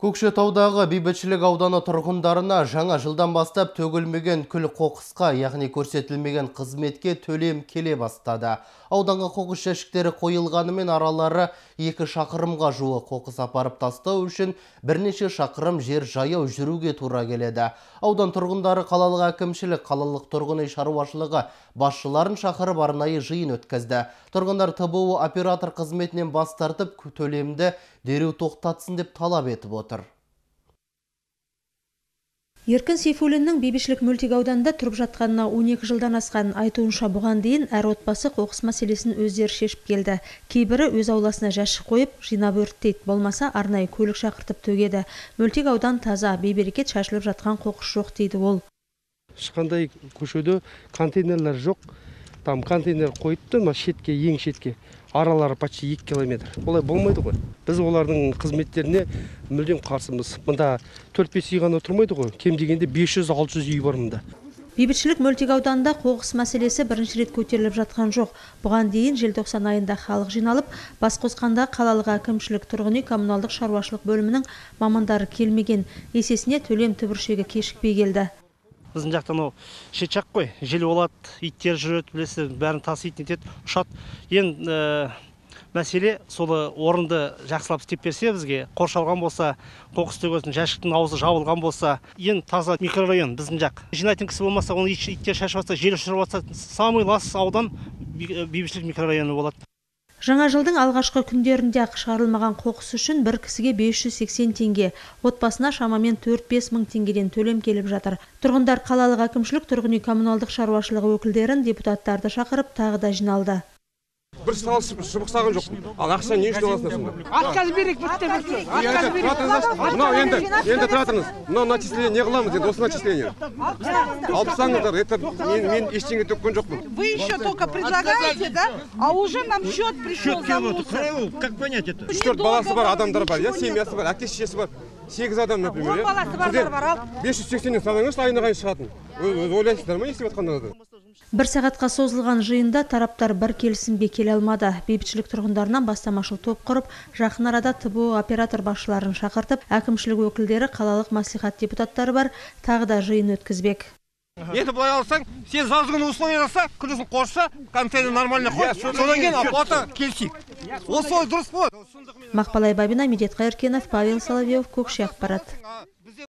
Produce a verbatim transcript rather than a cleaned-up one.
Көкшетаудағы бейбітшілік ауданы тұрғындарына жаңа жылдан бастап төгілмеген күл қоқысқа, яғни көрсетілмеген қызметке төлем келе бастады. Ауданға қоқыс жәшіктері қойылғанымен аралары екі шақырымға жуық қоқыс апарып тастау үшін бірнеше шақырым жер жаяу жүруге тура келеді. Аудан тұрғындары қалалық әкімшілік, қалалық тұрғын үй шаруашылығы басшыларын шақырып арнайы жиын өткізді. Тұрғындар Т Б У оператор қызметінен бас тартып, төлемді дереу тоқтатсын деп талап етіп отыр. Еркін Сейфуллиннің бейбітшілік мөлтек ауданында тұрып жатқанына он екі жылдан асқан айтуынша, бұған дейін әр отбасы қоқыс мәселесін өздері шешіп келді. Кейбірі өз ауласына жәшік қойып, жинап өрттейді, болмаса арнайы көлік шақыртып төгеді. Мөлтек аудан таза, бейберекет шашылып жатқан қоқыс жоқ дейді ол. Ешқандай көшеде контейнерлер жоқ. Там контейнер қойыпты, ма шетке, ең шетке. Аралары почти екі километр. Олай болмайды ғой. Біз олардың қызметтеріне мүлдем қарсымыз. Мұнда төрт-бес үй ғана тұрмайды ғой. Кем дегенде бес жүз алты жүз үй бар мұнда. Бейбітшілік мөлтек ауданында қоқыс мәселесі бірінші рет көтеріліп жатқан жоқ. Бұған дейін желтоқсан айында халық жиналып, бас қосқанда қалалық әкімшілік тұрғын үй коммуналдық шаруашылық бөлімінің мамандары келмеген. Есесіне төлем түбіршегі кешікпей келді. Біздің жақтан ол шетшақ қой, жел болады, иттер жүреді, білесіздер, бәрін тасиды, нетеді, ұшады. Ең мәселе солы орынды жақсылап істеп берсе бізге, қоршалған болса, қоқыс төгетін жәшіктің аузы жабылған болса, ең таза микрорайон біздің жақ. Жинайтын кісі болмаса, оны иттер шашып жатса, жел ұшырып жатса, самый лас аудан бейбітшілік микрорайоны болады. Жаңа жылдың алғашқы күндерінде ақ шығарылмаған қоқыс үшін бір кісіге бес жүз сексен теңге, отбасына шамамен төрт-бес мың теңгеден төлем келіп жатыр. Тұрғындар қалалық әкімшілік, тұрғын үй коммуналдық шаруашылығы өкілдерін, депутаттарды шақырып тағы да жиналды. Бір салып шыбықсаған жоқ. Ал ақша не үшін аласыңдар сонда? Отказ берейік, бітті, бітті. Отказ берейік. Мынау енді, енді тұратыңыз. Мынау начисление не қыламыз енді, осы начисление. Алып тастаңыздар, это мен ештеңе төккен жоқпын. Вы еще только предлагаете, да? А уже нам счет пришел за мусор. Как понять это? Үш-төрт баласы бар адамдар бар, я семьясы бар, әке шешесі бар. сегіз адам, например. он баласы бардар бар ал. бес жүз сексеннен салыңыз, айына қайын шығатын. Ойлайсыздар ма, естіп жатқандарыңызды? Бір сағатқа созылған жиында тараптар бір келісімге келе алмады. Бейбітшілік тұрғындарынан бастамашыл топ құрып, жақын арада Т Б У оператор басшыларын шақыртып, әкімшілік өкілдері, қалалық мәслихат депутаттары бар, тағы да жиын өткізбек. Енді былай алсаң, сен жазған условия жаса, күнісін қорса, контейнер нормально қой. Содан кейін оплата келсек. Ол солай дұрыс болады. Мақпалай Бабина, Медет Қайыркенов, Павел Соловьев, Көкше ақпарат.